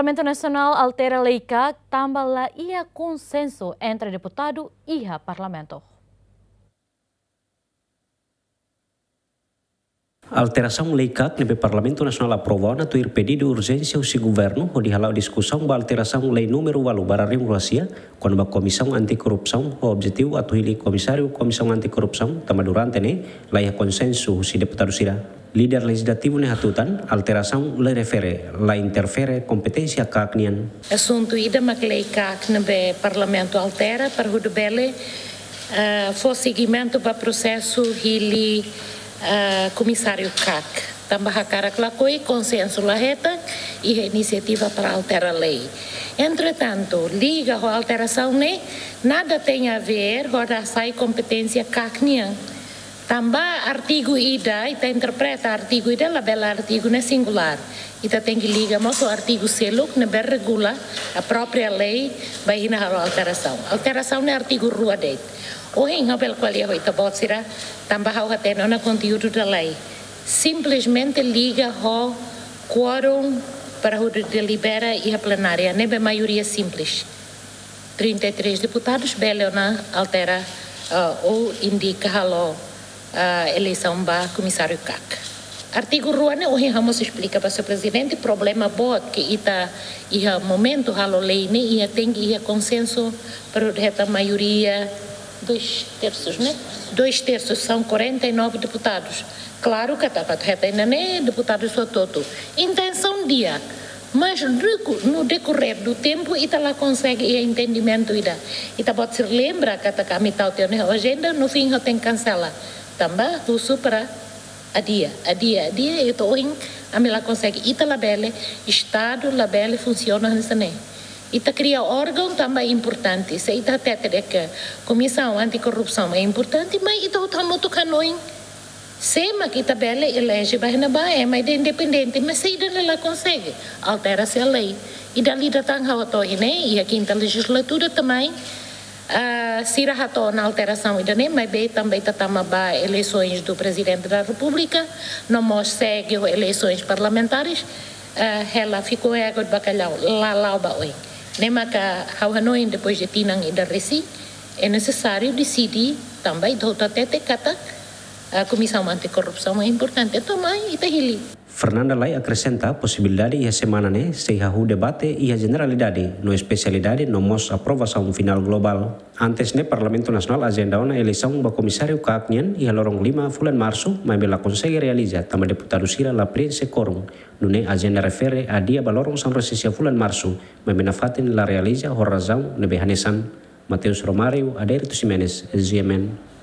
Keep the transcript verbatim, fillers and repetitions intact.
Parlamentu Nasionál altera lei KAK tanba la iha konsensu entre deputadu iha Parlamentu. Alterasaun lei KAK ne'ebé Parlamentu Nasionál aprova ona tuir pedidu urjénsia husi governu hodi hala'o diskusaun ba alterasaun lei númeru ualu barra rihun rua sia, kona-ba Komisaun Anti Korrupsaun, ho objetivu atu hili komisáriu Komisaun Anti Korrupsaun, tanba durante ne'e la iha konsensu husi deputadu sira. Líder lejizlativu ne'e hatutan, alterasaun lei refere la interfere kompeténsia KAK nian. Asuntu ida mak lei KAK ne'ebé Parlamentu altera para hodi bele, eh, fó segimentu ba prosesu hili, eh, komisáriu KAK. Tanba hakarak lakohi, konsensu la hetan, iha inisiativa para altera lei. Entretantu, liga ho alterasaun ne'e, nada tem a ver ho rasai kompeténsia KAK nian. Tanba artigu ida, ita interpreta artigu ida labele artigu ne'e singulár. Ita tenke liga mós ho artigu seluk ne'ebé regula a própria lei ba ita halo alterasaun. Alterasaun ne'e artigu rua de'it. Ohin ha'u bele ko'alia ho ita-boot sira, tanba ha'u hatene ona konteúdu da lei. Simplesmente liga ho quórum para hodi delibera iha plenária, ne'ebé maioria simples. Trinta e três deputadus bele ona altera, ah, ou indika halo, ah, eleisaun ba komisáriu KAK. Artigu rua ne'e ohin ha'u mós esplika ba señór prezidente, problema boot ke ita iha momentu halo lei ne'e iha tenke iha konsensu, para hetan maioria dois terços, né? Dois terços são quarenta e nove deputados. Klaru katak atu hetan ida-ne'e deputadu sira hotu. Intensaun di'ak. Mas deku-, no decorrer do tempo, ita la konsege iha entendimentu ida. Ita-boot sira lembra katak ami tau tiha ona iha ajenda, no fim ha'u tenke kansela. Tanba husu para adia, adia, adia, ita ohin ami la konsege, ita labele, Estadu labele funsiona hanesan ne'e. Ita kria órgaun tanba importante. Se ita hatete de'it ke Komisaun Anti Korrupsaun é importante, mas ita hotu hamutuk hanoin sé mak ita bele eleje ba iha ne'ebá, ema ida independente, mas se ida-ne'e la konsege, altera-se lei. Ida liu tan ha'u hato'o iha ne'e, iha kinta lejizlatura também, ah, sira hato'o ona alterasaun ida-ne'e, maibé tanba ita tama ba eleisoens do Presidente da República, no mós segue ho eleisoens parlamentares, ah, hela fiku ego de bacalhau, la la'o ba oin. Ne'e maka ha'u hanoin depois de tinan ida resin, é nesesáriu deside tanba ita hotu hatete katak, ah, Komisaun Anti Korrupsaun é importante. Entaun mai ita hili. Fernanda Lay akresenta posibilidade iha semana ne'e sei hahú debate iha jeneralidade no espesialidade no mós aprovasaun finál globál. Antes ne'e Parlamentu Nasionál ajenda ona eleisaun ba komisáriu KAK nian iha loron lima fulan Marsu, maibé la konsege realiza tanba deputadu sira la prienxe quórum. Nune'e ajenda refere adia ba loron sanulu-resin-sia fulan Marsu, maibé nafatin la realiza ho razaun ne'ebé hanesan. Mateus Romário, Adérito Ximenes, G M N.